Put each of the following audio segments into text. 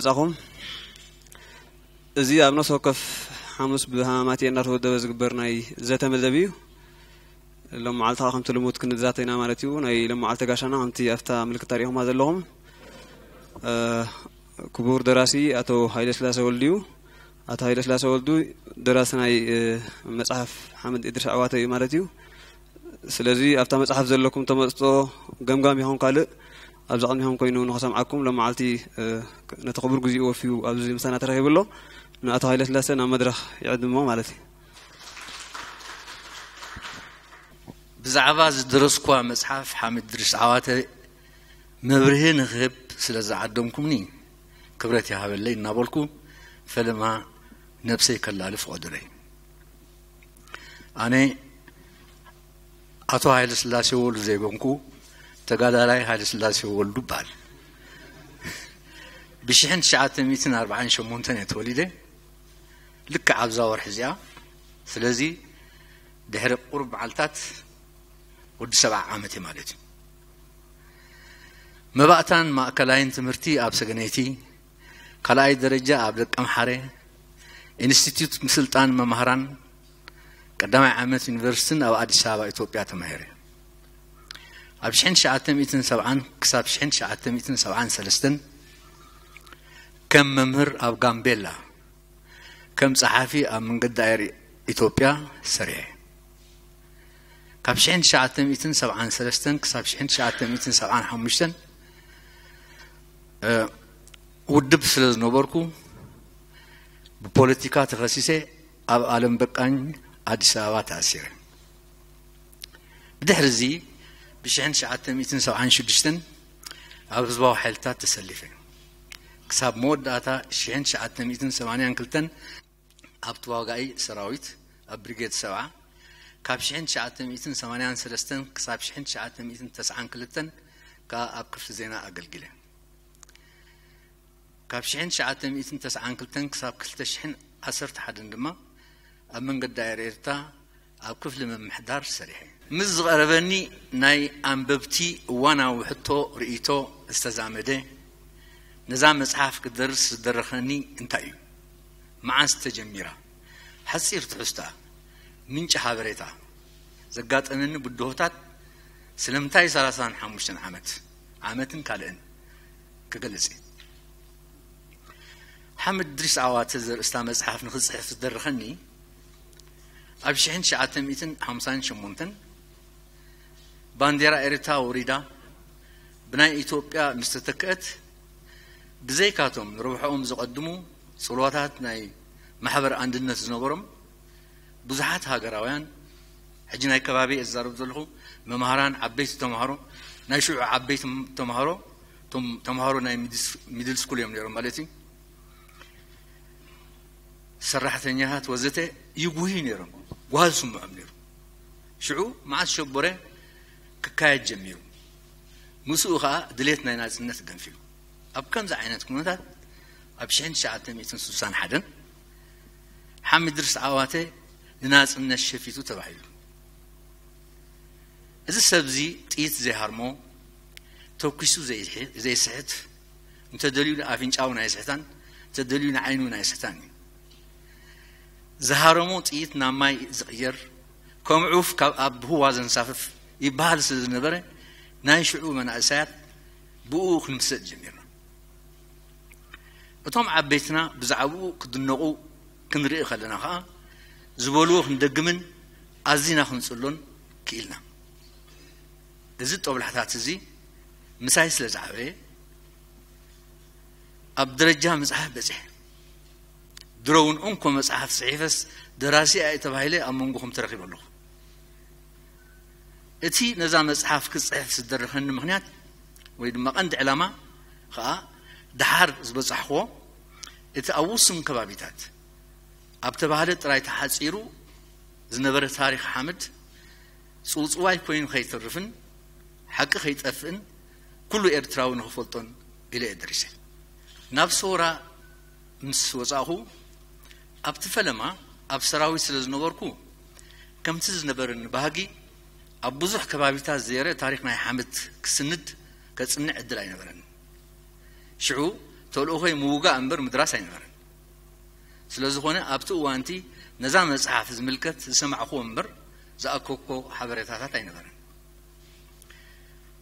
ዛኹም እዚ ኣብ ነፍሲ ወከፍ ሓሙስ ብሃማማት እናተወደበ ዝግበር ናይ ዘተ መደብ እዩ። ሎም መዓልቲ ከዓ ከምቲ ልሙድ ክንዛተ ኢና ማለት እዩ። ናይ ሎም መዓልቲ ጋሻና ከምቲ ኣብታ ምልክት ታሪኹማ ዘለኹም፣ እ፣ ክቡር ደራሲ ኣቶ ሃይለ ስላሴ ወልዱ እዩ። ኣቶ ሃይለ ስላሴ ወልዱ ደራሲ ናይ፣ እ፣ መጽሓፍ ሓምድ እድሪስ ዓዋተ እዩ ማለት እዩ። ስለዚ ኣብታ መጽሓፍ ዘለኩም ተመጽጦ፣ ገምጋም ይኹን ካልእ፣ ኣብዚ ቅድሚኹም ኮይኑ ንኸሰምዓኩም ሎም መዓልቲ፣ እ፣ ነቲ ክቡር ግዜኡ ወፊዩ ኣብዚ ምሳና ተረኺቡ ኣሎ። ንኣቶ ሃይለ ስላሴ ናብ መድረኽ ይዕድሞ ማለት እዩ። ብዛዕባ ዝደረስኳ መጽሓፍ ሓምድ እድሪስ ዓዋተ መብርሂ ንኽህብ ስለ ዝዓደምኩምኒ ክብረት ይሃበለይ እናበልኩ፣ ፈለማ ነብሰይ ከላሊ ፍቐዱለይ። ኣነ ኣቶ ሃይለ ስላሴ ወልዱ ዘይኮንኩ፣ ተጋዳላይ ሃይለ ስላሴ ወልዱ እበሃል። ብሽሕን ትሽዓተ ሚእትን ኣርባዓን ሸሞንተን እየ ተወሊደ፣ ልክዕ ኣብዛ ወርሒ እዚኣ። ስለዚ ድሕሪ ቁሩብ መዓልታት ወዲ ሰብዓ ዓመት እየ ማለት እዩ። መባእታን ማእከላይን ትምህርቲ ኣብ ሰገነይቲ፣ ካልኣይ ደረጃ ኣብ ደቀምሓረ ኢንስቲትዩት ምስልጣን መማህራን ቀዳማይ ዓመት ዩኒቨርሲቲን ኣብ ኣዲስ ኣበባ ኢትዮጵያ ተማሂረ። ኣብ ሽሕን ትሽዓተ ሚእትን ሰብዓን ክሳብ ሽሕን ትሽዓተ ሚእትን ሰብዓን ሰለስተን ከም መምህር ኣብ ጋምቤላ፣ ከም ጸሓፊ ኣብ መንገዲ ኣየር ኢትዮጵያ ሰሪሐ። ካብ ሽሕን ትሽዓተ ሚእትን ሰብዓን ሰለስተን ክሳብ ሽሕን ትሽዓተ ሚእትን ሰብዓን ሓሙሽተን፣ እ፣ ውድብ ስለ ዝነበርኩ ብፖለቲካ ተኸሲሰ ኣብ ኣለም በቃኝ ኣዲስ ኣበባ ተኣሲረ። ብድሕሪ እዚ ብሽሕን ትሽዓተ ሚእትን ሰብዓን ሽዱሽተን ኣብ ህዝባዊ ሓይልታት ተሰሊፈ። ክሳብ መወዳእታ ሽሕን ትሽዓተ ሚእትን ሰማንያን ክልተን ኣብ ተዋጋኢ ሰራዊት ኣብ ብሪጌድ ሰብዓ፣ ካብ ሽሕን ትሽዓተ ሚእትን ሰማንያን ሰለስተን ክሳብ ሽሕን ትሽዓተ ሚእትን ተስዓን ክልተን ከኣ ኣብ ክፍሊ ዜና ኣገልጊለ። ካብ ሽሕን ትሽዓተ ሚእትን ተስዓን ክልተን ክሳብ ክልተ ሽሕን ዓሰርተ ሓደን ድማ ኣብ መንገዲ ኣየር ኤርትራ ኣብ ክፍሊ ምምሕዳር ሰሪሐ። ምስ ዝቐረበኒ ናይ ኣንበብቲ እዋናዊ ሕቶ ርእይቶ ዝተዛመደ፣ ነዛ መጽሓፍ ክደርስ ዝደረኸኒ እንታይ እዩ? መዓስ ተጀሚራ? ሓጺር ትሕዝቶኣ፣ ምንጪ ሓበሬታ፣ ዘጋጠመኒ ብድሆታት፣ ስለምንታይ ሰላሳን ሓሙሽተን ዓመት፣ ዓመትን ካልእን ክገልጽ እየ። ሓምድ እድሪስ ዓዋተ ዘርእስታ መጽሓፍ ንኽጽሕፍ ዝደረኸኒ ኣብ ሽሕን ትሽዓተ ሚእትን ሓምሳን ሸሞንተን ባንዴራ ኤርትራ ወሪዳ ብናይ ኢትዮጵያ ምስ ተተክአት፣ ብዘይካቶም ንረብሕኦም ዘቐድሙ ጽልዋታት ናይ ማሕበር ኣንድነት ዝነበሮም ብዙሓት ሃገራውያን፣ ሕጂ ናይ ከባቢ እየ ዝዛረብ ዘለኹ፣ መምሃራን፣ ዓበይቲ ተምሃሮ፣ ናይ ሽዑ ዓበይቲ ተምሃሮ፣ እቶም ተምሃሮ ናይ ሚድል ስኩል እዮም ነይሮም ማለት እዩ፣ ሰራሕተኛታት ወዘተ ይጉህዩ ነይሮም። ጓህ ዝስምዖም ነይሩ። ሽዑ መዓስ ሸቦረ ክካየድ ጀሚሩ። ምስኡ ኸኣ ድሌት ናይ ናጽነት ገንፊሉ። ኣብ ከምዚ ዓይነት ኩነታት ኣብ ሽሕን ትሽዓተ ሚእትን ስሳን ሓደን ሓምድ እድሪስ ዓዋተ ንናጽነት ሸፊቱ ተባሂሉ። እዚ ሰብዚ ጥይት ዘይሃርሞ፣ ተኲሱ ዘይሕ-፣ ዘይስሕት፣ እንተደልዩ ንኣፍንጫኡ ናይ ስሕታን እንተደልዩ ንዓይኑ ናይ ስሕታን እዩ። ዝሃረሞ ጥይት ናብ ማይ ዝቕየር፣ ከም ዑፍ ካብ ኣብ ህዋ ዘንሳፍፍ ይበሃል ስለ ዝነበረ፣ ናይ ሽዑ መናእሰያት ብኡ ክንምሰጥ ጀሚርና። እቶም ዓበይትና ብዛዕባኡ ክድነቑ ክንርኢ ከለና ኸኣ፣ ዝበልዎ ክንደግምን ኣዚና ክንጽሎን ክኢልና። እዚ ጦብላሕታት እዚ ምሳይ ስለ ዝዓበየ፣ ኣብ ደረጃ ምጽሓፍ በጺሐ። ድሮ እውን እንኮ መጽሓፍ ጽሒፈስ ደራሲ እየ ተባሂለ ኣብ መንጎኹም ተረኺበ ኣለኹ። እቲ ነዛ መጽሓፍ ክጽሕፍ ዝደረኸኒ ምኽንያት ወይ ድማ ቀንዲ ዕላማ ኸኣ፣ ደሓር ዝበጻሕክዎ፣ እቲ ኣብ ውሱን ከባቢታት ኣብ ተባህለ ጥራይ ተሓጺሩ ዝነበረ ታሪኽ ሓምድ ጽውጽዋይ ኮይኑ ከይተርፍን ሓቂ ከይጠፍእን ኩሉ ኤርትራዊ ንኽፈልጦን ኢለ እየ ደሪሰ። ናብ ሰውራ ምስ ወጻእኹ፣ ኣብቲ ፈለማ ኣብ ሰራዊት ስለ ዝነበርኩ፣ ከምቲ ዝነበረኒ ባህጊ ኣብ ብዙሕ ከባቢታት ዘየረ ታሪኽ ናይ ሓምድ ክስንድ ከጽንዕ ዕድል ኣይነበረን። ሽዑ ተልእኾይ ምውጋእ እምበር ምድራስ ኣይነበረን። ስለ ዝኾነ ኣብቲ እዋንቲ ነዛ መጽሓፍ ዝምልከት ዝሰማዕኩዎ እምበር ዝኣከብኩዎ ሓበሬታታት ኣይነበረን።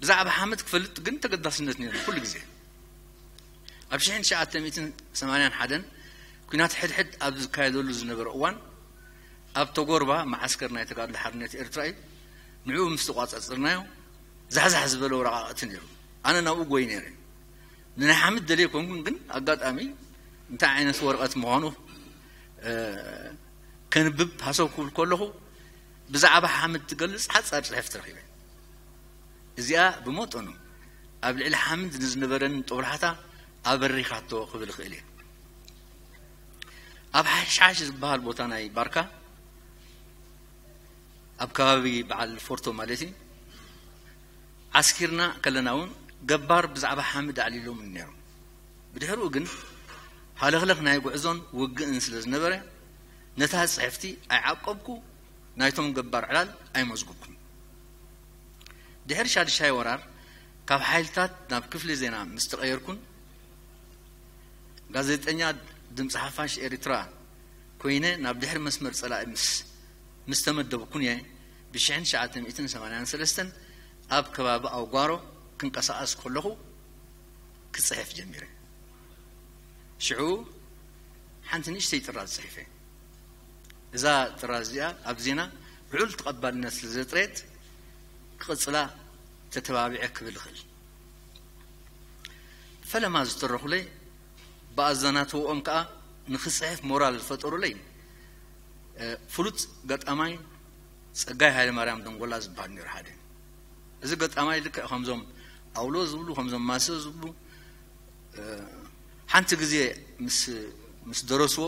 ብዛዕባ ሓምድ ክፈልጥ ግን ተገዳስነት ነይሩ ኩሉ ግዜ። ኣብ ሽሕን ትሽዓተ ሚእትን ሰማንያን ሓደን ኲናት ሕድሕድ ኣብ ዝካየደሉ ዝነበረ እዋን ኣብ ተጎርባ መዓስከር ናይ ተጋድሎ ሓርነት ኤርትራ እዩ። ንዕኡ ምስ ተቋጻጸርናዮ ዛሕዛሕ ዝበለ ወረቓቕቲ ነይሩ። ኣነ ናብኡ ጎይ ነይረ። ንናይ ሓምድ ደልየ ኮንኩን ግን ኣጋጣሚ እንታይ ዓይነት ወረቐት ምዃኑ ከንብብ ሃሰው ክብል ከለኹ ብዛዕባ ሓምድ ትገልጽ ሓጻር ጽሕፍቲ ረኺበ። እዚኣ ብመጠኑ ኣብ ልዕሊ ሓምድ ንዝነበረኒ ጦብላሕታ ኣበሪኻቶ ክብል እኽእል እየ። ኣብ ሓሽሓሽ ዝበሃል ቦታ ናይ ባርካ ኣብ ከባቢ በዓል ፎርቶ ማለት እዩ ዓስኪርና ከለና እውን ገባር ብዛዕባ ሓምድ ኣዕሊሎም ነይሮም። ብድሕሪኡ ግን ሃለኽለኽ ናይ ጉዕዞን ውግእን ስለ ዝነበረ ነታ ጽሕፍቲ ኣይዓቀብኩ፣ ናይቶም ገባር ዕላል ኣይመዝጉብኩን። ድሕሪ ሻድሻይ ወራር ካብ ሓይልታት ናብ ክፍሊ ዜና ምስ ተቐየርኩን ጋዜጠኛ ድምፂ ሓፋሽ ኤርትራ ኮይነ ናብ ድሕሪ መስመር ፀላኢ ምስ ምስ ተመደብኩን እየ ብሽሕን ትሽዓተ ሚእትን ሰማንያን ሰለስተን ኣብ ከባቢ ኣውጓሮ ክንቀሳቐስ ከለኹ ክፅሕፍ ጀሚረ። ሽዑ ሓንቲ ንእሽተይ ጥራዝ ፅሒፈ። እዛ ጥራዝ እዚኣ ኣብ ዜና ልዑል ተቐባልነት ስለ ዘጥረየት ክቕፅላ ተተባቢዐ ክብል እኽእል። ፈለማ ዝተረኹለይ ብኣዘናትወኦም ከኣ ንኽፅሕፍ ሞራል ዝፈጠሩለይ ፍሉጥ ገጣማይ ጸጋይ ሃይለማርያም ደንጎላ ዝበሃል ነይሩ ሓደ። እዚ ገጣማይ ልክዕ ከምዞም ኣውሎ ዝብሉ ከምዞም ማሰ ዝብሉ ሓንቲ ግዜ ምስ ምስ ደረስዎ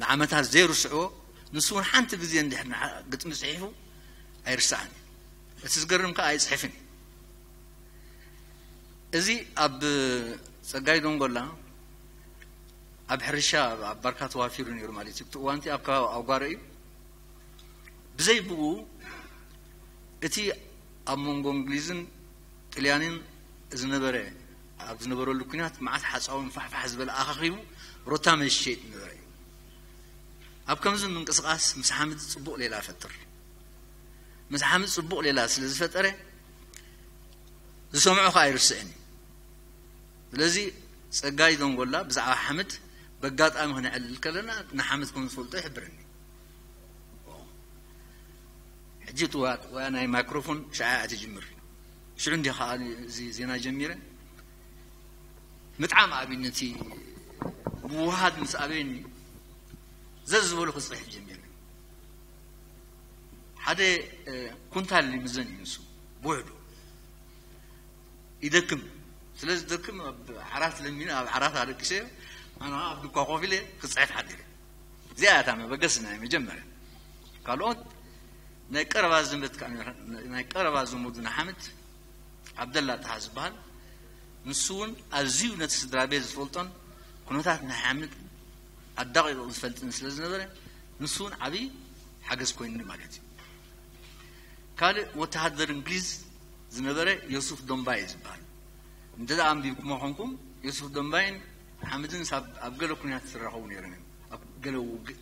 ንዓመታት ዘይርስዕዎ ንሱ እውን ሓንቲ ግዜ እንድሕር ግጥሚ ጽሒፉ ኣይርሳዕን። እቲ ዝገርም ከኣ ኣይጽሕፍን እዩ። እዚ ኣብ ጸጋይ ደንጎላ ኣብ ሕርሻ ኣብ ባርካ ተዋፊሩ ነይሩ ማለት እዩ። እቲ እዋንቲ ኣብ ከባቢ ኣውጓረ እዩ። ብዘይ ብኡ እቲ ኣብ መንጎ እንግሊዝን ጥልያንን ዝነበረ ኣብ ዝነበረሉ ኩናት መዓት ሓፃውን ፋሕፋሕ ዝበለ ኣኻኺቡ ሮታ መሸጥ ነበረ እዩ። ኣብ ከምዚ ምንቅስቃስ ምስ ሓምድ ፅቡቕ ሌላ ፈጥር። ምስ ሓምድ ፅቡቕ ሌላ ስለ ዝፈጠረ ዝሰምዖ ከዓ ኣይርስዕን እዩ። ስለዚ ጸጋይ ደንጎላ ብዛዕባ ሓምድ በጋጣሚ ክነዕልል ከለና ንሓምድ ከም ዝፈልጦ ይሕብረኒ። ሕጂ እቲ ወያ ናይ ማይክሮፎን ሸዓ እያ ትጅምር። ሽዑ እንዲ ከዓ እዚ ዜና ጀሚረ ምጥዓም ኣብዩ ነቲ ምውሃድ ምስ ኣበየኒ ዘዝ ዝበሉ ክፅሕፍ ጀሚረ። ሓደ ኩንታል ይምዘን እዩ ንሱ ብውሕዱ ይደክም። ስለ ዝደክም ኣብ ዓራት ለሚነ ኣብ ዓራት ኣለቂሰ ኣነ ኣብ ድኳ ኮፍ ኢለ ክፅሕፍ ሓዲረ። እዚኣ እታ መበገሲ ናይ መጀመርያ። ካልኦት ናይ ቀረባ ዘመድ ናይ ቀረባ ዘመዱ ንሓምድ ዓብደላ ጣሃ ዝበሃል ንሱ እውን ኣዝዩ ነቲ ስድራ ቤት ዝፈልጦን ኩነታት ናይ ሓምድ ኣዳቂቑ ዝፈልጥን ስለ ዝነበረ ንሱ እውን ዓብዪ ሓገዝ ኮይኑኒ ማለት እዩ። ካልእ ወተሃደር እንግሊዝ ዝነበረ ዮሱፍ ዶምባይ ዝበሃል እንተ ደኣ ኣንቢብኩሞ ኮንኩም ዮሱፍ ዶምባይን ሓምድን ሳብ ኣብ ገለ ኩናት ዝራኸቡ ነይሮም እዮም ኣብ ገለ ውግእ።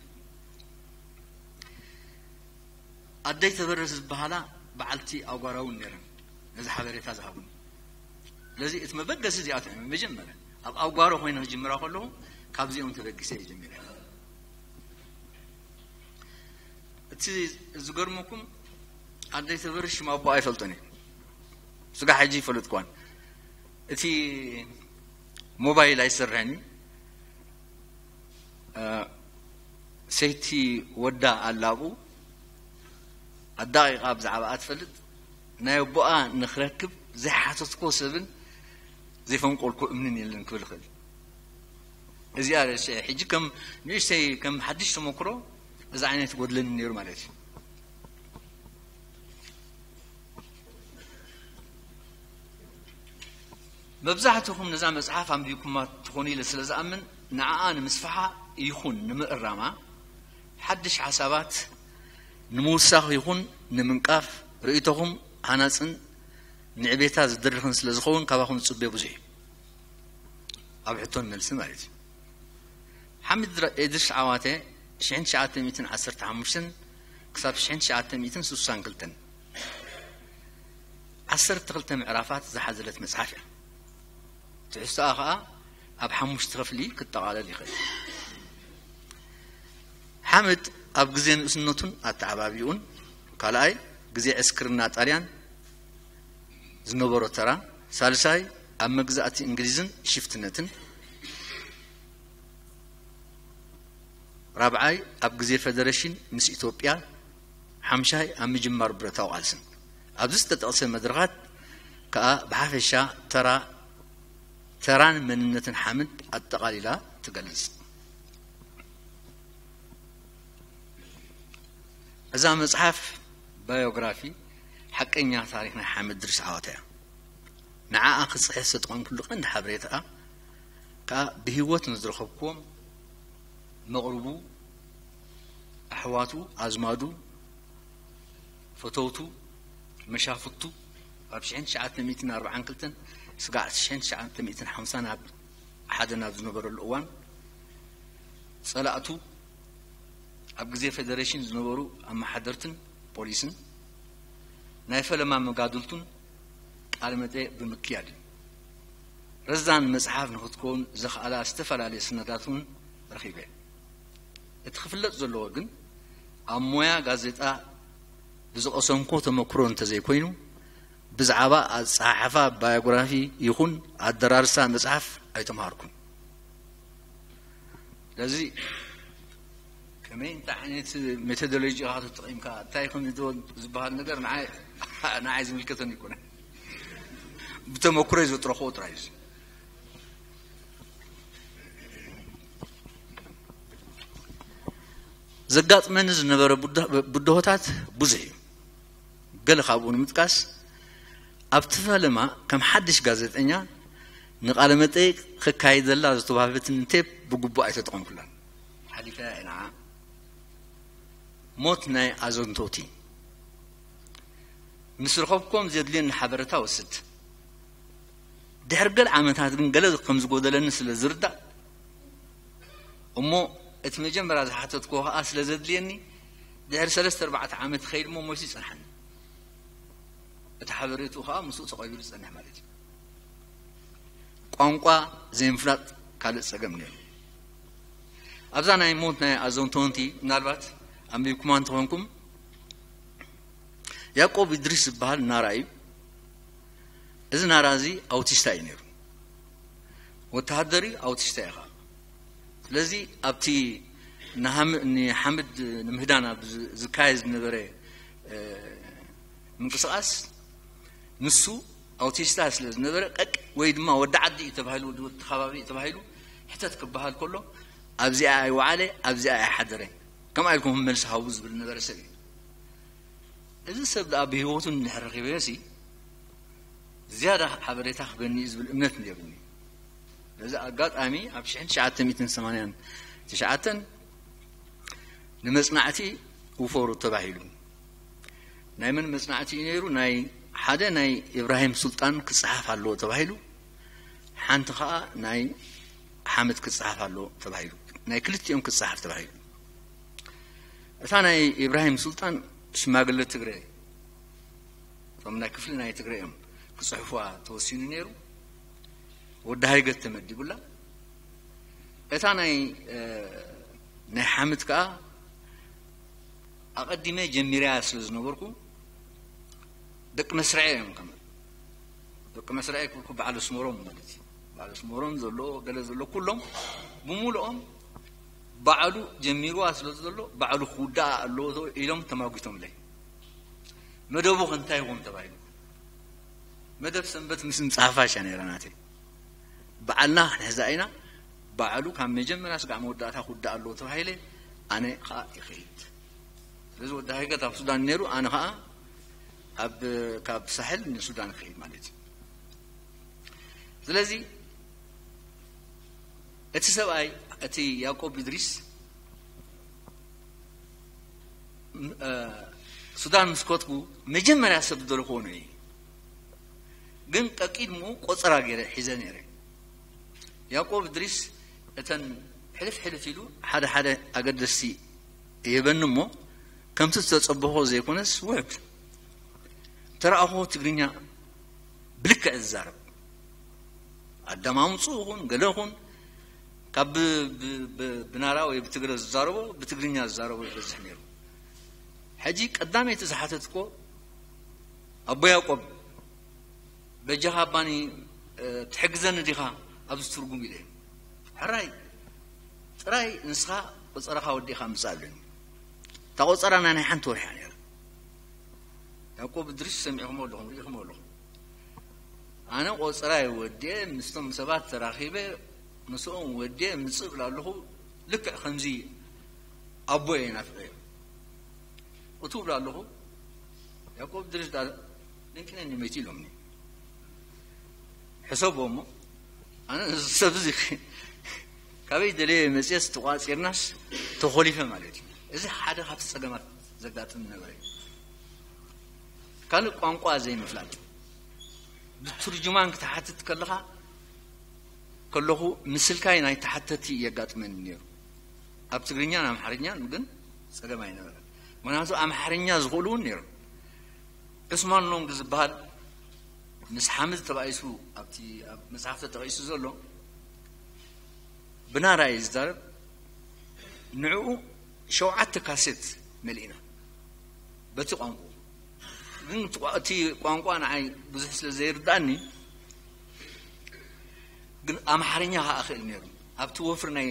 ኣደይ ተበረስ ዝበሃላ በዓልቲ ኣውጓራውን ነይረን ነዚ ሓበሬታ ዝሃቡን። ስለዚ እቲ መበገሲ እዚኣቶም እዮም መጀመርያ ኣብ ኣውጓሮ ኮይነ ክጅምራ ከለኹ ካብዚኦም ተበጊሰ እየ ጀሚረ። እቲ ዝገርመኩም ኣደይ ተበርሽ ሽም ኣቦ ኣይፈልጦን እዩ። ስጋ ሕጂ ይፈልጥኳን እቲ ሞባይል ኣይሰርሕን እዩ። ሰይቲ ወዳ ኣላብኡ ኣዳቂቃ ብዛዕባኣ ትፈልጥ ናይ ኣቦኣ ንክረክብ ዘይሓተትኮ ሰብን ዘይፈንቆልኮ እምንን የለን ክብል ይኽእል። እዚኣ ርእሲ ሕጂ ከም ንእሽተይ ከም ሓድሽ ተመክሮ እዚ ዓይነት ይጎድለኒ ነይሩ ማለት እዩ። መብዛሕትኹም ነዛ መጽሓፍ ኣንቢብኩማ ትኾኑ ኢለ ስለ ዝኣምን ንዓኣ ንምስፋሓ ይኹን ንምእራማ ሓድሽ ሓሳባት ንምውሳኽ ይኹን ንምንቃፍ ርእይቶኹም ሃናጽን ንዕቤታ ዝድርኽን ስለ ዝኸውን ካባኹም ዝጽበዮ ብዙሕ እዩ። ኣብ ሕቶን መልሲ ማለት እዩ። ሓምድ ድረ- እድሪስ ዓዋተ ሽሕን ትሽዓተ ሚእትን ዓሰርተ ሓሙሽተን ክሳብ ሽሕን ትሽዓተ ሚእትን ስሳን ክልተን ዓሰርተ ክልተ ምዕራፋት ዝሓዘለት መጽሓፍ እያ። ትሕዝቶኣ ኸኣ ኣብ ሓሙሽተ ክፍሊ ክጠቓለል ይኽእል። ሓምድ ኣብ ግዜ ንእስነቱን ኣተዓባቢኡን፣ ካልኣይ፣ ግዜ ዕስክርና ጣልያን ዝነበሮ ተራ፣ ሳልሳይ፣ ኣብ መግዛእቲ እንግሊዝን ሽፍትነትን፣ ራብዓይ፣ ኣብ ግዜ ፈደረሽን ምስ ኢትዮጵያ፣ ሓምሻይ፣ ኣብ ምጅማር ብረታዊ ቃልስን። ኣብዚ ዝተጠቕሰ መድረኻት ከኣ ብሓፈሻ ተራ ተራን መንነትን ሓምድ ኣጠቓሊላ ትገልጽ። እዛ መጽሓፍ ባዮግራፊ ሓቀኛ ታሪኽ ናይ ሓምድ ድሪስ ዓዋተ እያ። ንዓኣ ክጽሕፍ ዝተጠቐምኩሉ ቀንዲ ሓበሬታኣ ከኣ ብህይወት ንዝረኸብኩዎም መቕርቡ፣ ኣሕዋቱ፣ ኣዝማዱ፣ ፈተውቱ፣ መሻፍቱ ኣብ ሽሕን ትሽዓተ ሚእትን ኣርብዓን ክልተን ስጋዕ ሽሕን ትሽዓተ ሚእትን ሓምሳን ኣብ ሓደ ናብ ዝነበረሉ እዋን ጸላእቱ ኣብ ግዜ ፌደሬሽን ዝነበሩ ኣመሓደርትን ፖሊስን ናይ ፈለማ መጋድልቱን ቃለ መጠይቕ ብምክያድ እዩ። ረዛን መጽሓፍ ንኽትከውን ዘኽኣላ ዝተፈላለየ ሰነዳት እውን ረኺበ። እቲ ክፍለጥ ዘለዎ ግን ኣብ ሞያ ጋዜጣ ብዝቐሰምኮ ተመክሮ እንተዘይኮይኑ ብዛዕባ ኣጸሓሕፋ ባዮግራፊ ይኹን ኣደራርሳ መጽሓፍ ኣይተምሃርኩን። ስለዚ ከመይ እንታይ ዓይነት ሜቶዶሎጂ ኢኻ ተጠቒምካ እንታይ ከም ዝበሃል ነገር ንዓይ ዝምልከተኒ ኣይኮነን። ብተመክሮይ ዘጥረኽዎ ጥራይ እዩ። ዘጋጥመኒ ዝነበረ ብድሆታት ብዙሕ እዩ። ገለ ካብኡ ንምጥቃስ ኣብቲ ፈለማ ከም ሓድሽ ጋዜጠኛ ንቃለ መጠይቅ ከካይደላ ዝተዋህበትኒ ቴፕ ብግቡእ ኣይተጠቐምኩላን። ሓሊፈያ እየ ንዓ። ሞት ናይ ኣዘንቶቲ ምስ ረኸብኩም ዘድልየኒ ሓበረታ ወስድ። ድሕሪ ገለ ዓመታት ግን ገለ ከም ዝጎደለኒ ስለ ዝርዳእ እሞ እቲ መጀመርያ ዝሓተትክዎ ከኣ ስለ ዘድልየኒ ድሕሪ ሰለስተ ኣርባዕተ ዓመት ክኸይድ እሞ ሞይቱ ይጸንሓኒ። እቲ ሓበሬትኡ ከኣ ምስኡ ተቐቢሩ ዝጸንሕ ማለት እዩ። ቋንቋ ዘይምፍላጥ ካልእ ጸገም ነይሩ። ኣብዛ ናይ ሞት ናይ ኣዘንቶንቲ ምናልባት ኣንቢብኩማ እንተኾንኩም ያዕቆብ እድሪስ ዝበሃል ናራ እዩ። እዚ ናራ እዚ ኣውቲስታ እዩ ነይሩ። ወተሃደር እዩ፣ ኣውቲስታ እዩ ኸዓ። ስለዚ ኣብቲ ንሓምድ ንምህዳን ኣብ ዝካየድ ዝነበረ ምንቅስቃስ ንሱ ኣውቲስታ ስለ ዝነበረ ቀቅ ወይ ድማ ወዲ ዓዲ እዩ ተባሂሉ ወዲ ወዲ ከባቢ እዩ ተባሂሉ ሕተት ክበሃል ከሎ ኣብዚኣ ኣይወዓለ ኣብዚኣ ኣይሓደረ ከምኣ ኢልኩም መልሲ ሃቡ ዝብል ነበረ ሰብ እዩ። እዚ ሰብ ደኣ ብህይወቱ እንድሕር ረኺበዮ ሲ ዝያዳ ሓበሬታ ክበኒ እዩ ዝብል እምነት ነይሩኒ። በዚ ኣጋጣሚ ኣብ ሽሕን ትሽዓተ ሚእትን ሰማንያን ትሽዓተን ንመጽናዕቲ ውፈሩ ተባሂሉ። ናይ መን መጽናዕቲ እዩ ነይሩ? ናይ ሓደ ናይ ኢብራሂም ሱልጣን ክጸሓፍ ኣለዎ ተባሂሉ፣ ሓንቲ ኸኣ ናይ ሓምድ ክጸሓፍ ኣለዎ ተባሂሉ፣ ናይ ክልቲኦም ክጸሓፍ ተባሂሉ። እታ ናይ ኢብራሂም ሱልጣን ሽማግለ ትግረ እቶም ናይ ክፍሊ ናይ ትግረ እዮም ክጽሕፉዋ ተወሲኑ ነይሩ። ወዲ ሃይገት ተመዲቡላ። እታ ናይ ናይ ሓምድ ከኣ ኣቐዲመ ጀሚረያ ስለ ዝነበርኩ ደቂ መስርዐ እዮም ከም ደቂ መስርዐ ክብልኩ በዓል ኣስመሮም ማለት እዩ። በዓል ኣስመሮም ዘሎ ገለ ዘሎ ኩሎም ብምሉኦም ባዕሉ ጀሚርዋ ስለ ዘሎ ባዕሉ ክውዳኣ ኣለዎ ኢሎም ተማጒቶምለይ። መደቡ ከ እንታይ ይኾን ተባሂሉ መደብ ሰንበት ምስ ምጽሓፋ እያ ነይራ ናተይ። በዓልና ክንሕዛ ኢና። ባዕሉ ካብ መጀመርያ ስጋዕ መወዳእታ ክውዳእ ኣለዎ ተባሂለ ኣነ ኸኣ ይኸይድ። ስለዚ ወዲ ሃይገት ኣብ ሱዳን ነይሩ ኣነ ኸኣ ኣብ ካብ ሳሕል ንሱዳን ክኸይድ ማለት እዩ። ስለዚ እቲ ሰብኣይ እቲ ያዕቆብ እድሪስ ሱዳን ምስ ከድኩ መጀመርያ ሰብ ዝደለኽዎ ንዑ እዩ። ግን ቀቂድምኡ ቆጸራ ገይረ ሒዘ ነይረ። ያዕቆብ እድሪስ እተን ሕልፍ ሕልፍ ኢሉ ሓደ ሓደ ኣገደስቲ ይህበኒ እሞ፣ ከምቲ ዝተጸበኾ ዘይኮነስ ውሕድ ተረኣኹ። ትግርኛ ብልክዕ ዝዛረብ ኣዳማምፁ ይኹን ገለ ይኹን፣ ካብ ብ- ብ- ብ- ብናራ ወይ ብትግረ ዝዛረቦ ብትግርኛ ዝዛረቦ ይበዝሕ ነይሩ። ሕጂ ቀዳመይቲ ዝሓተትኮ ኣቦ ያዕቆብ በጃኻ ኣባኒ ትሕግዘኒ ዲኻ ኣብዚ ትርጉም ኢለ። ሕራይ ጥራይ ንስኻ ቆጸራኻ ወዲኻ ምጻእ ኣለኒ። እታ ቆጸራ ናይ ሓንቲ ወርሒ እያ ነይራ። ያዕቆብ እድሪስ ሰሚዕኹም ኣለኹም፣ ርኢኹም ኣለኹም። ኣነ ቆጸራ ወዲኤ ምስቶም ሰባት ተራኺበ ምስኦም ወዲኤ ምጽእ ብላ ኣለኹ። ልክዕ ከምዚ ኣቦ እየ ናፍቀ እቱ ብላ ኣለኹ። ያዕቆብ ድርሽ ዳ ድንቅነኒ መይቲ ኢሎምኒ። ሕሰቦ እሞ ኣነ እዚ ሰብ እዚ ካበይ ደለየ መፅየስ ተቋፂርናስ ተኾሊፈ ማለት እዩ። እዚ ሓደ ካብቲ ፀገማት ዘጋጥም ነበረ። ካልእ ቋንቋ ዘይምፍላጥ፣ ብትርጅማን ክትሓትት ከለኻ ከለኹ ምስልካይ ናይ ተሓተቲ የጋጥመኒ ነይሩ። ኣብ ትግርኛን ኣምሓርኛን ግን ፀገም ኣይነበረን። ምክንያቱ ኣምሓርኛ ዝኽእሉ እውን ነይሩ። ዑስማን ኖንግ ዝበሃል ምስ ሓምድ ተባኢሱ ኣብቲ ኣብ መፅሓፍ ተጠቂሱ ዘሎ ብናራ እዩ ዝዛረብ። ንዕኡ ሸውዓተ ካሴት መሊእና በቲ ቋንቋ። ግን እቲ ቋ- እቲ ቋንቋ ንዓይ ብዙሕ ስለ ዘይርዳእኒ ግን ኣምሓርኛ ከዓ እኽእል ነይሩ። ኣብቲ ወፍሪ ናይ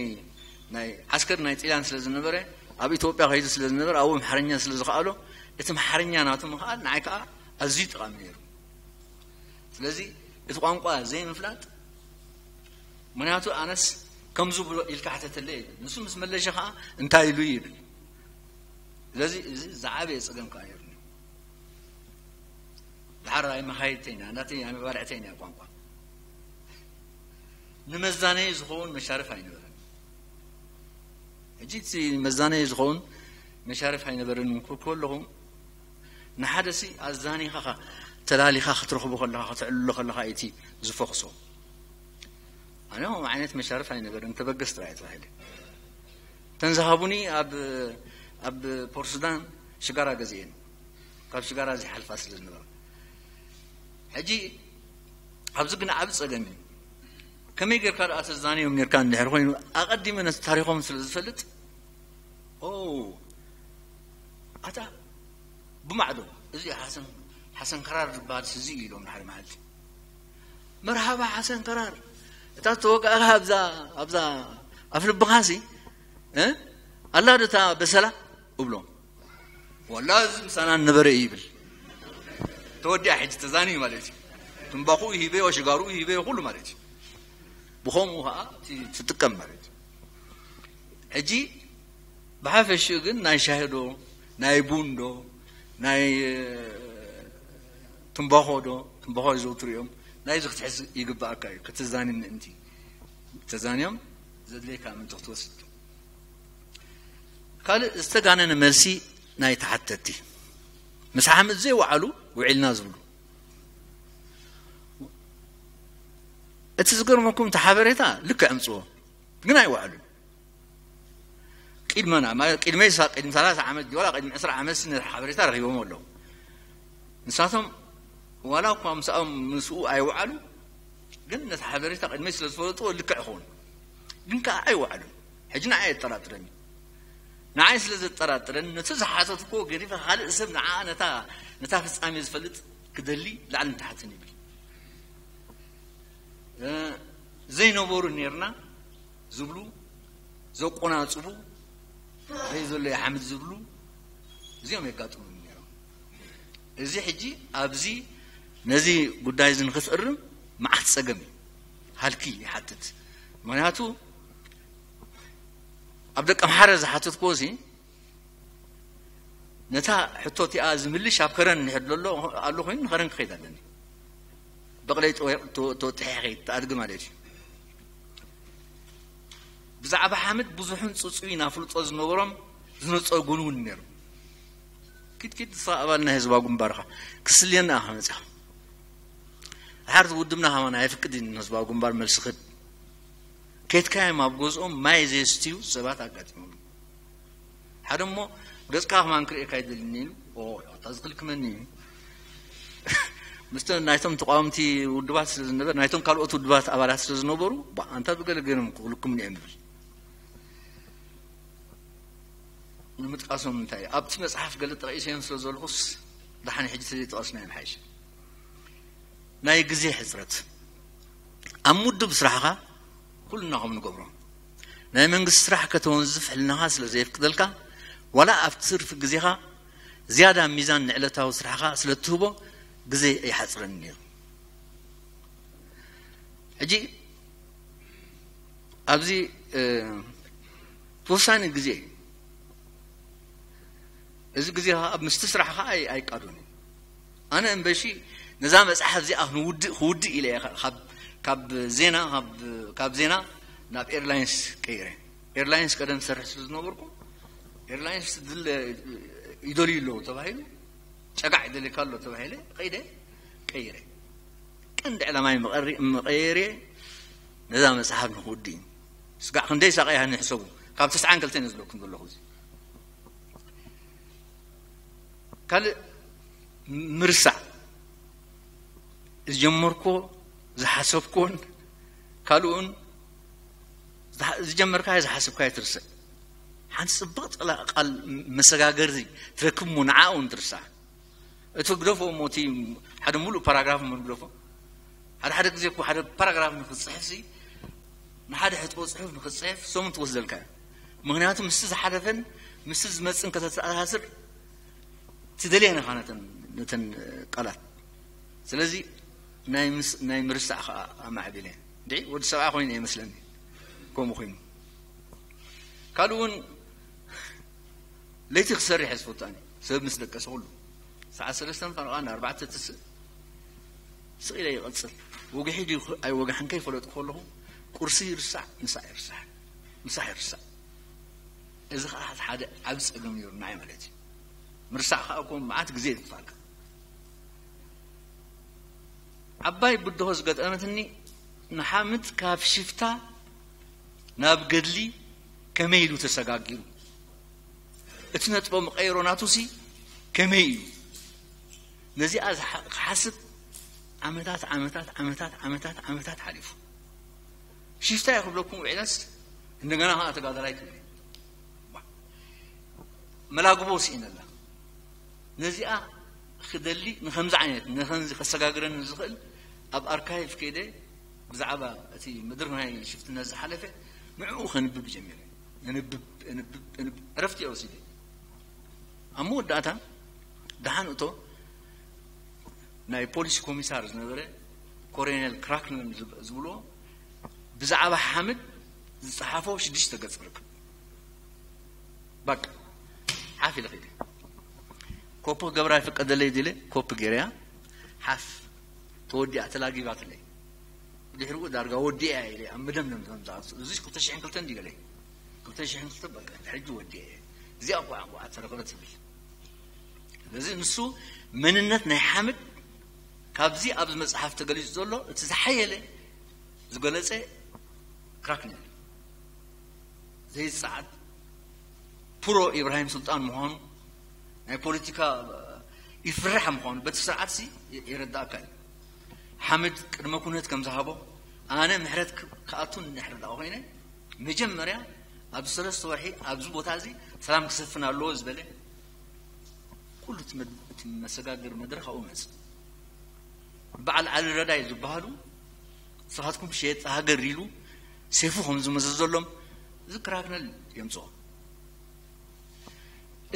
ናይ ዓስከር ናይ ጥልያን ስለ ዝነበረ፣ ኣብ ኢትዮጵያ ከይዱ ስለ ዝነበረ፣ ኣብኡ ኣምሓርኛ ስለ ዝኸኣሎ እቲ ኣምሓርኛ ናቱ ምኽኣል ንዓይ ከዓ ኣዝዩ ጠቓሚ ነይሩ። ስለዚ እቲ ቋንቋ ዘይምፍላጥ፣ ምክንያቱ ኣነስ ከምዚ ብሎ ኢልካ ሕተተለይ ይብል፣ ንሱ ምስ መለሸ ከዓ እንታይ ኢሉ ይብል። ስለዚ እዚ ዝዓበየ ፀገም ከዓ ነይሩኒ። ድሓር ኣይመኻየድተይና ናተይ ኣይመባርዕተይና ቋንቋ ንመዛነይ ዝኸውን መሻርፍ ኣይነበረን። ሕጂ እቲ መዛነይ ዝኸውን መሻርፍ ኣይነበረን እንኩ ከለኹ፣ ንሓደ ሲ ኣዛኒኻ ተላሊኻ ክትረኽቦ ከለኻ፣ ክትዕልሎ ከለኻ እቲ ዝፈኽሶ። ኣነ ከምኡ ዓይነት መሻርፍ ኣይነበረን፣ ተበገስ ጥራይ ተባሂለ። እተን ዝሃቡኒ ኣብ ኣብ ፖርሱዳን ሽጋራ ገዚኤን፣ ካብ ሽጋራ ዘይሓልፋ ስለ ዝነበራ። ሕጂ ኣብዚ ግን ዓቢ ጸገም እዩ። ከመይ ጌርካ ደኣ ተዛንዮም ኔርካ እንድሕር ኮይኑ፣ ኣቐዲመ ነቲ ታሪኾም ስለ ዝፈልጥ፣ ኦ፣ ኣታ ብማዕዶ እዚ ሓሰን ሓሰን ከራር ዝበሃል ስዚ እዩ ኢሎም ሓደ መዓልቲ። መርሃባ ሓሰን ከራር፣ እታ ዝተወጋእካ ኣብዛ ኣብዛ ኣፍ ልብኻሲ እ ኣላ ዶ እታ በሰላ እብሎም። ወላ እዚ ምሳና ነበረ እዩ ይብል። ተወዲኣ ሕጂ ተዛንዩ ማለት እዩ። ትንባኹ ይሂበዮ፣ ሽጋሩ ይሂበዮ፣ ኩሉ ማለት እዩ። ብኸምኡ ከዓ እቲ ትጥቀም ማለት እዩ። ሕጂ ብሓፈሽኡ ግን ናይ ሻሂ ዶ ናይ ቡን ዶ ናይ ትንባኾ ዶ፣ ትንባኾ ይዘውትሩ እዮም፣ ናይዚ ክትሕዝ ይግባኣካ እዩ። ክትዛኒ ምእንቲ ተዛንዮም ዘድልየካ ምእንቲ ክትወስድ። ካልእ ዝተጋነነ መልሲ ናይ ተሓተቲ፣ ምስ ሓምድ ዘይወዓሉ ውዒልና ዝብሉ። እቲ ዝገርመኩም እቲ ሓበሬታ ልክዕ ኣምፅዎ፣ ግን ኣይወዓሉን። ቅድመና ማለት ቅድመይ ሳ ቅድሚ ሰላሳ ዓመት ድዩ ዋላ ቅድሚ ዕስራ ዓመት ነቲ ሓበሬታ ረኺቦም ኣለዉ። ንሳቶም ዋላ እኳ ምስኦም ምስኡ ኣይወዓሉ፣ ግን ነቲ ሓበሬታ ቅድመይ ስለ ዝፈለጥዎ ልክዕ ይኸውን። ግን ከዓ ኣይወዓሉን። ሕጂ ንዓይ የጠራጥረኒ። ንዓይ ስለ ዘጠራጥረኒ ነቲ ዝሓተትክዎ ገዲፈ ካልእ ሰብ ንዓ ነታ ነታ ፍጻሜ ዝፈልጥ ክደሊ ላዕልን ታሕትን ይብል። እ፣ ዘይነበሩ ኔርና ዝብሉ፣ ዘቆናጽቡ፣ ኣበይ ዘሎ ይሓምድ ዝብሉ፣ እዚኦም የጋጥሙኒ ነይሮም። እዚ ሕጂ ኣብዚ ነዚ ጉዳይ እዚ ንክትእርም መዓት ጸገም እዩ፣ ሃልኪ ይሓትት። ምክንያቱ ኣብ ደቀምሓረ ዝሓተትክዎ እዚ ነታ ሕቶ እቲኣ ዝምልሽ ኣብ ከረን እንድሕር ዘሎ ኣሎ ኮይኑ ንኸረን ክኸይድ ኣለኒ። በቕለይ ተወ- ተወ- ተወጢሐ ከይድ ተኣድጊ ማለት እዩ። ብዛዕባ ሓምድ ብዙሕን ጽጹይን ኣፍልጦ ዝነበሮም ዝነጸጉን እውን ነይሩ። ኪድ ኪድ ንስኻ ኣባል ናይ ህዝባዊ ግንባር ኢኻ፣ ክስልየና ኢኻ መጺኻ። ድሓር ውድብና ከማን ኣይፍቅድን ንህዝባዊ ግንባር መልሲ ክህብ። ከድካዮም ኣብ ገዝኦም ማይ ዘየስትዩ ሰባት ኣጋጢሞም። ሓደ እሞ ገጽካ ከማን ክርእየካ ኣይደልን ኢሉ። ኦ፣ ኣታ ዝኽልክመኒ እዩ። ምስቲ ናይቶም ተቃወምቲ ውድባት ስለ ዝነበረ፣ ናይቶም ካልኦት ውድባት ኣባላት ስለ ዝነበሩ፣ ባ፣ ኣንታ ብገለ ገይሮም ክኽልኩምኒ እዮም ዝብል። ንምጥቃሶም እንታይ እዩ? ኣብቲ መጽሓፍ ገለ ጠቒሰዮም ስለ ዘለኹስ፣ ደሓን ሕጂ ተዘይጠቐስናዮም ሓይሽ። ናይ ግዜ ሕጽረት። ኣብ ምውድብ ስራሕኻ ኩልና ከም ንገብሮ። ናይ መንግስቲ ስራሕ ከተወንዝፍ ሕልናኻ ስለ ዘየፍቅደልካ፣ ዋላ ኣብ ትርፊ ግዜኻ ዝያዳ ሚዛን ንዕለታዊ ስራሕኻ ስለ እትህቦ፣ ግዜ ኣይሓጽረኒ ነይሩ። ሕጂ ኣብዚ፣ እ፣ ተወሳኒ ግዜ እዩ። እዚ ግዜ ኸዓ ኣብ ምስቲ ስራሕ ኸዓ ኣይ-፣ ኣይቃዶን እዩ። ኣነ እምበሺ ነዛ መጽሓፍ እዚኣ ክንውድእ፣ ክውድእ ኢለ እየ ካብ፣ ካብ ዜና፣ ካብ፣ ካብ ዜና ናብ ኤርላይንስ ቀይረ። ኤርላይንስ ቀደም ዝሰርሕ ስለ ዝነበርኩ፣ ኤርላይንስ ድለ-፣ ይደልዩ ኣለዉ ተባሂሉ፣ ጨጋዕ ይደልየካ ኣሎ ተባሂለ፣ ኸይደ ቀይረ። ቀንዲ ዕላማይ መቐሪ-፣ መቐየርየ ነዛ መጽሓፍ ንኽውድእ እዩ። ስጋዕ ክንደይ ሳቐያ ንሕሰቡ። ካብ ተስዓን ክልተን እየ ዝብለኩም ዘለኹ እዚ። ካልእ ምርሳዕ። ዝጀመርኮ፣ ዝሓሰብኮን ካልኡን ዝሓ-፣ ዝጀመርካዮ ዝሓሰብካዮ ትርስዕ። ሓንቲ ጽብቕቲ ቃል መሰጋገሪ ትረክብ እሞ ንዓኣ እውን ትርሳዕ። እቲ ግደፎ እሞ እቲ ሓደ ሙሉእ ፓራግራፍ እሞ ግደፎ። ሓደ ሓደ ግዜ እኮ ሓደ ፓራግራፍ ንክትጽሕፍ ሲ፣ ንሓደ ሕጥቦ ጽሑፍ ንክትጽሕፍ ሰሙን ትወስደልካ እያ። ምኽንያቱ ምስቲ ዝሓለፈን ምስቲ ዝመጽእን ከተተኣሳስር ትደልየን ኢኻ ነተን፣ ነተን ቃላት። ስለዚ ናይ ምስ-፣ ናይ ምርሳዕ ኸኣ ኣማዕቢለ። እንድዒ ወዲ ሰብኣይ ኮይኑ እየ መስለኒ ከምኡ ኮይኑ። ካልእ እውን ለይቲ ክሰርሕ እየ ዝፈቱ ኣነ። ሰብ ምስ ደቀሰ ኩሉ ሰዓት ሰለስተ ፈረቓ ንኣርባዕተ ትስእ ስቕ ኢለ ይቐጽል። ወግሒ ድዩ ኣይወግሕን ከይፈለጥኩ ከለኹ ቁርሲ ይርሳዕ፣ ምሳሕ ይርሳዕ፣ ምሳሕ ይርሳዕ። እዚ ኸዓ ሓደ ዓቢ ጸገም ነይሩ ንዓይ ማለት እዩ። ምርሳዕ ኸዓ እኮ መዓት ግዜ የጥፍኣካ። ዓባይ ብድሆ ዝገጠመትኒ ንሓምድ ካብ ሽፍታ ናብ ገድሊ ከመይ ኢሉ ተሰጋጊሩ፣ እቲ ነጥቦ መቐየሮ ናቱሲ ከመይ እዩ? ነዚኣ ዝሓ-፣ ክሓስብ ዓመታት፣ ዓመታት፣ ዓመታት፣ ዓመታት፣ ዓመታት ሓሊፉ። ሽፍታ እየ ክብለኩም ውዒለስ እንደገና ኸዓ ተጋዳላይ ትብል። መላግቦ ስኢነላ። ነዚኣ ክደሊ ንኸምዚ ዓይነት፣ ንኸምዚ ከሰጋግረኒ ዝኽእል ኣብ ኣርካይቭ ከይደ ብዛዕባ እቲ ምድሪ ናይ ሽፍትነት ዝሓለፈ ንዕኡ ከንብብ ጀሚረ። እንብብ፣ እንብብ፣ እንብብ፣ ዕረፍቲ እየ ወሲደ። ኣብ መወዳእታ ደሓን እቶ ናይ ፖሊስ ኮሚሳር ዝነበረ ኮሎኔል ክራክነር ዝብ-፣ ዝብልዎ ብዛዕባ ሓምድ ዝጸሓፎ ሽዱሽተ ገጽ ክርከብ። በቃ፣ ሓፍ ኢለ ኸይደ። ኮፒ ክገብራ ይፍቀደለይ ድለ፣ ኮፒ ገይረያ፣ ሓፍ፣ ተወዲኣ፣ ተላጊባትለይ። ድሕሪኡ ዳርጋ ወዲኣ ኢለ ኣብ መደምደም ዘምጻእ። እዚ ክልተ ሽሕን ክልተን ድዩ ገለ? ክልተ ሽሕን ክልተ በቃ፣ ሕጂ ወዲአ እየ። እዚኣ እኮ፣ እኮ ተረፈረት ትብል። ስለዚ ንሱ መንነት ናይ ሓምድ ካብዚ ኣብዚ መጽሓፍ ተገሊጹ ዘሎ እቲ ዝሓየለ ዝገለጸ ክራክነር። ዘይጸዓድ ፕሮ ኢብራሂም ሱልጣን ምዃኑ፣ ናይ ፖለቲካ ይፍራሕ ምዃኑ በቲ ስርዓትሲ የረዳእካ እዩ። ሓምድ ቅድመ ኩነት ከም ዝሃቦ፣ ኣነ ምሕረት ክ-፣ ክኣቱ እንድሕር ደኣ ኮይነ፣ መጀመርያ ኣብዚ ሰለስተ ወርሒ ኣብዚ ቦታ እዚ ሰላም ክሰፍን ኣለዎ ዝበለ፣ ኩሉ እቲ መድ-፣ እቲ መሰጋገሪ መድረኽ ኣብኡ መጽእ። በዓል ዓሊ ረዳይ ዝበሃሉ፣ ንስኻትኩም ሸየጥቲ ሃገር ኢሉ ሴፉ ከም ዝመዘዘሎም፣ እዚ ክራክነር የምጽኦ።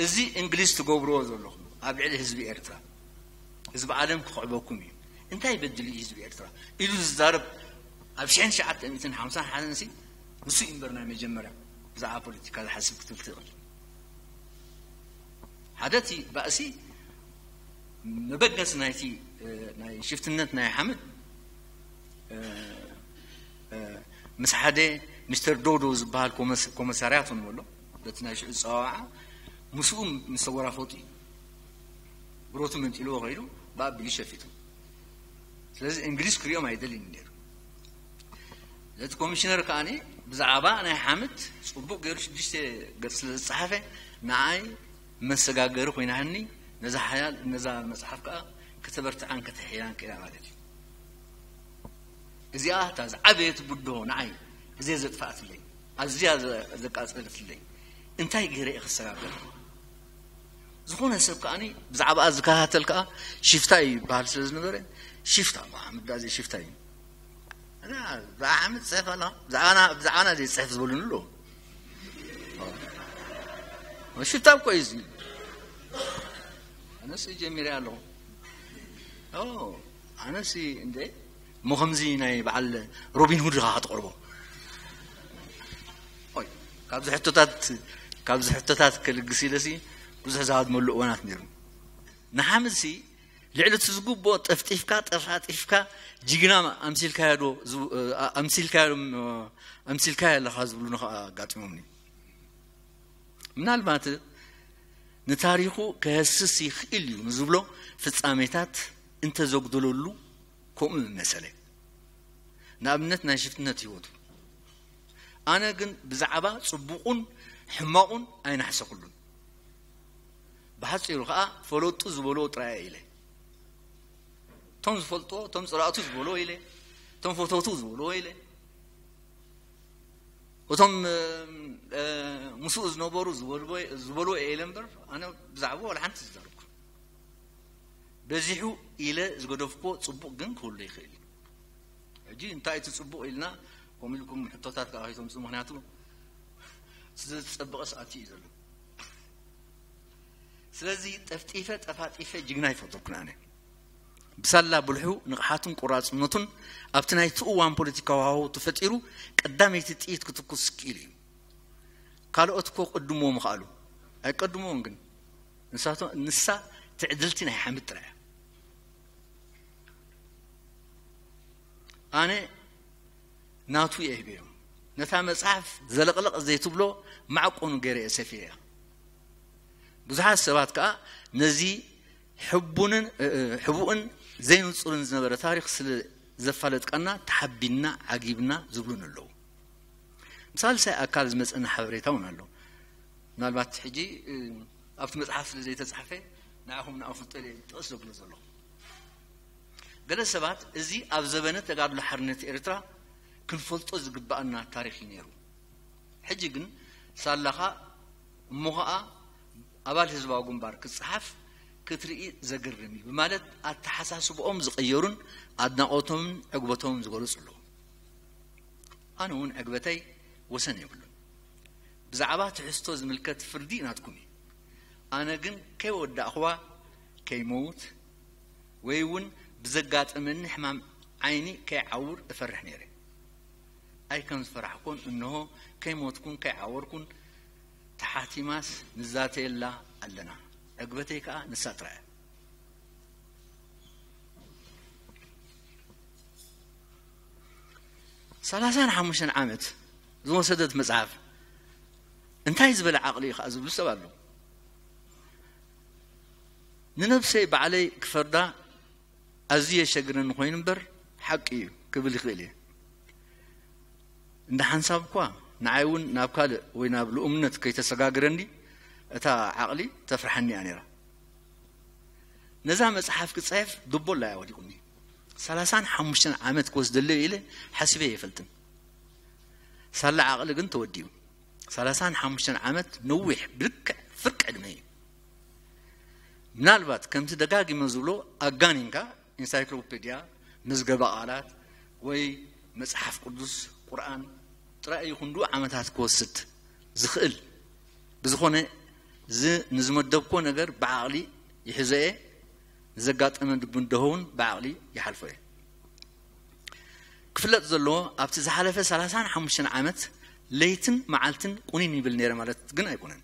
እዚ እንግሊዝ ትገብርዎ ዘለኹም ኣብ ልዕሊ ህዝቢ ኤርትራ፣ ህዝቢ ዓለም ክኽዕበኩም እዩ። እንታይ በድል እዩ ህዝቢ ኤርትራ ኢሉ ዝዛረብ ኣብ ሽሕን ትሽዓተ ሚእትን ሓምሳን ሓደን ሲ፣ ንሱ እዩ እምበር ናይ መጀመርያ ብዛዕባ ፖለቲካ ዝሓስብ ክትብል ትኽእል። ሓደ እቲ ባእሲ መበገሲ ናይቲ፣ እ፣ ናይ ሽፍትነት ናይ ሓምድ፣ እ፣ እ፣ ምስ ሓደ ሚስተር ዶዶ ዝበሃል ኮመስ-፣ ኮመሳርያት እውን ኣሎ። በቲ ናይ ሽዑ ጸዋውዓ ምስኡ ምስ ተወራፈጡ እዩ። ብረቱ መንጢልዎ ከይዱ ብኣቢሉ ሸፊቱ። ስለዚ እንግሊዝ ክሪኦም ኣይደልን እዩ ነይሩ። ነቲ ኮሚሽነር ከኣ ብዛዕባ ናይ ሓምድ ጽቡቕ ገይሩ ሽዱሽተ ገጽ ስለ ዝጸሓፈ፣ ንዓይ መሰጋገሪ ኮይናኒ። ነዛ ሓያል፣ ነዛ መጽሓፍ ከኣ ከተበርትዓን ከተሕይላን ክኢላ ማለት እዩ። እዚኣ እታ ዝዓበየት ብድሆ ንዓይ፣ እዚኣ ዘጥፍኣትለይ፣ ኣዝያ ዘ-፣ ዘቃጸለትለይ፣ እንታይ ገይረ እየ ክሰጋገር? ዝኾነ ሰብ ከኣኒ ብዛዕባኣ ዝከታተል ከኣ ሽፍታ እዩ ይበሃል ስለ ዝነበረ፣ ሽፍታ፣ ሓምድ ዳኣ ዘይሽፍታ እዩ። እዛ ብዛዕባ ሓምድ ትጽሕፍ ኣለኻ? ብዛዕባና፣ ብዛዕባና ዘይጽሕፍ ዝበሉኒ ኣለዉ። ሽፍታ እኮ እዩ እዚ። ኣነስ ጀሚረ ኣለኹ። ኦ፣ ኣነስ እንደ እሞ ከምዚ ናይ በዓል ሮቢን ሁድ ኢኻ ክትቐርቦ። ኦይ፣ ካብዚ ሕቶታት፣ ካብዚ ሕቶታት ክልግስ ኢለሲ ብዙሕ ዝሃድመሉ እዋናት ነይሩ። ንሓምድሲ ልዕሊ እቲ ዝግብኦ ጠፍጢፍካ፣ ጠፋጢፍካ፣ ጅግና ኣምሲልካዮ ዶ፣ ዝ-፣ ኣምሲልካዮ፣ ኣምሲልካዮ ኣለኻ ዝብሉኒ ከኣ ኣጋጢሞምኒ። ምናልባት ንታሪኹ ከህስስ ይኽእል እዩ ንዝብሎ ፍጻሜታት እንተዘጉደለሉ ከምኡ ምመሰለ። ንኣብነት ናይ ሽፍትነት ህይወቱ። ኣነ ግን ብዛዕባ ጽቡቑን ሕማቑን ኣይናሕሰኹሉን። ብሓጺሩ ከኣ ፈለጡ ዝበልዎ ጥራይ ኢለ። እቶም ዝፈልጥዎ፣ እቶም ጸላእቱ ዝበልዎ ኢለ፣ እቶም ፈተውቱ ዝበልዎ ኢለ፣ እቶም፣ እ፣ እ፣ ምስኡ ዝነበሩ ዝበልዎ፣ ዝበልዎ ኢለ እምበር፣ ኣነ ብዛዕባኡ ዋላ ሓንቲ ዝዛረብኩ። በዚሑ ኢለ ዝገደፍኩዎ ጽቡቕ ግን ክህሉ ይኽእል እዩ። ሕጂ እንታይ እቲ ጽቡቕ ኢልና ከምኡ ኢልኩም ሕቶታት ከኣ ከይተምጽኡ፣ ምኽንያቱ እቲ ዘዝጸበቐስ ኣትዩ እዩ ዘሎ። ስለዚ ጠፍጢፈ ጠፋጢፈ ጅግና ኣይፈጠርኩን ኣነ። ብሳላ ብልሑ፣ ንቕሓቱን ቆራጽነቱን ኣብቲ ናይቲ እዋን ፖለቲካዊ ሃዋህው ተፈጢሩ ቀዳመይቲ ጥይት ክትኩስ ክኢሉ እዩ። ካልኦት እኮ ቅድምዎ ምኽኣሉ። ኣይቀድምዎን ግን። ንሳቶ-፣ ንሳ ትዕድልቲ ናይ ሓምድ ጥራይ እያ። ኣነ ናቱ እየ ሂበዮ። ነታ መጽሓፍ ዘለቕለቕ ዘይትብሎ ማዕቆኑ ገይረ እየ ሰፊየያ። ብዙሓት ሰባት ከኣ ነዚ ሕቡንን፣ እ፣ እ፣ ሕቡእን ዘይንጹርን ዝነበረ ታሪኽ ስለ ዘፋለጥካና ተሓቢንና፣ ዓጊብና ዝብሉን ኣለዉ። ሳልሳይ ኣካል ዝመጸና ሓበሬታ እውን ኣሎ። ምናልባት ሕጂ፣ እ፣ ኣብቲ መጽሓፍ ስለ ዘይተጻሕፈ ንዓኹም ንኣፍልጦ ኢለ ጥቕስ ዘብሎ ዘለኹ። ገለ ሰባት እዚ ኣብ ዘበነ ተጋድሎ ሓርነት ኤርትራ ክንፈልጦ ዝግብኣና ታሪኽ እዩ ነይሩ። ሕጂ ግን ሳላኻ እሞ ኸኣ ኣባል ህዝባዊ ግንባር ክጸሓፍ ክትርኢ ዘገርም እዩ ብማለት ኣተሓሳስብኦም ዝቐየሩን ኣድናቖቶምን ዕግበቶምን ዝገለጹ ኣለዉ። ኣነ እውን ዕግበተይ ወሰን የብሉን። ብዛዕባ ትሕዝቶ ዝምልከት ፍርዲ ናትኩም እዩ። ኣነ ግን ከይወዳእኽዋ ከይመውት ወይ እውን ብዘጋጠመኒ ሕማም ዓይኒ ከይዓውር እፈርሕ ነይረ። ኣይ ከም ዝፈራሕኩን፣ እንሆ ከይሞትኩን ከይዓወርኩን ተሓቲማስ ንዛተየላ ኣለና። ዕግበተይ ከኣ ንሳ ጥራይ እያ። ሰላሳን ሓሙሽተን ዓመት ዝወሰደት መጽሓፍ እንታይ ዝበለ ዓቕሊ እዩ ከኣ ዝብሉ ሰብ ኣለዉ። ንነብሰይ ባዕለይ ክፈርዳ ኣዝዩ የሸግረኒ ኮይኑ እምበር ሓቂ እዩ ክብል ይኽእል እየ። እንደ ሓንሳብ እኳ ንዓይ እውን ናብ ካልእ ወይ ናብ ልኡምነት ከይተሰጋግረኒ እታ ዓቕሊ ተፍርሓኒ እያ ነይራ። ነዛ መጽሓፍ ክጽሕፍ ዱቦላ እያ ወዲቑኒ። ሰላሳን ሓሙሽተን ዓመት ክወስደለይ ኢለ ሓሲበ ኣይፈልጥን። ሳላ ዓቕሊ ግን ተወዲኡ። ሰላሳን ሓሙሽተን ዓመት ነዊሕ ብልክዕ ፍርቂ ዕድመ እዩ። ምናልባት ከምቲ ደጋጊመ ዝብሎ ኣጋኒንካ ኢንሳይክሎፔድያ፣ መዝገበ ቃላት ወይ መጽሓፍ ቅዱስ፣ ቁርኣን ጥራይ እዩ ክንድኡ ዓመታት ክወስድ ዝኽእል። ብዝኾነ እዚ ንዝመደብኮ ነገር ብዓቕሊ ይሕዞ እየ፣ ንዘጋጠመ ብድሆ እውን ብዓቕሊ ይሓልፎ እየ። ክፍለጥ ዘለዎ ኣብቲ ዝሓለፈ ሰላሳን ሓሙሽተን ዓመት ለይትን መዓልትን ቁኒን ይብል ነይረ ማለት ግን ኣይኮነን።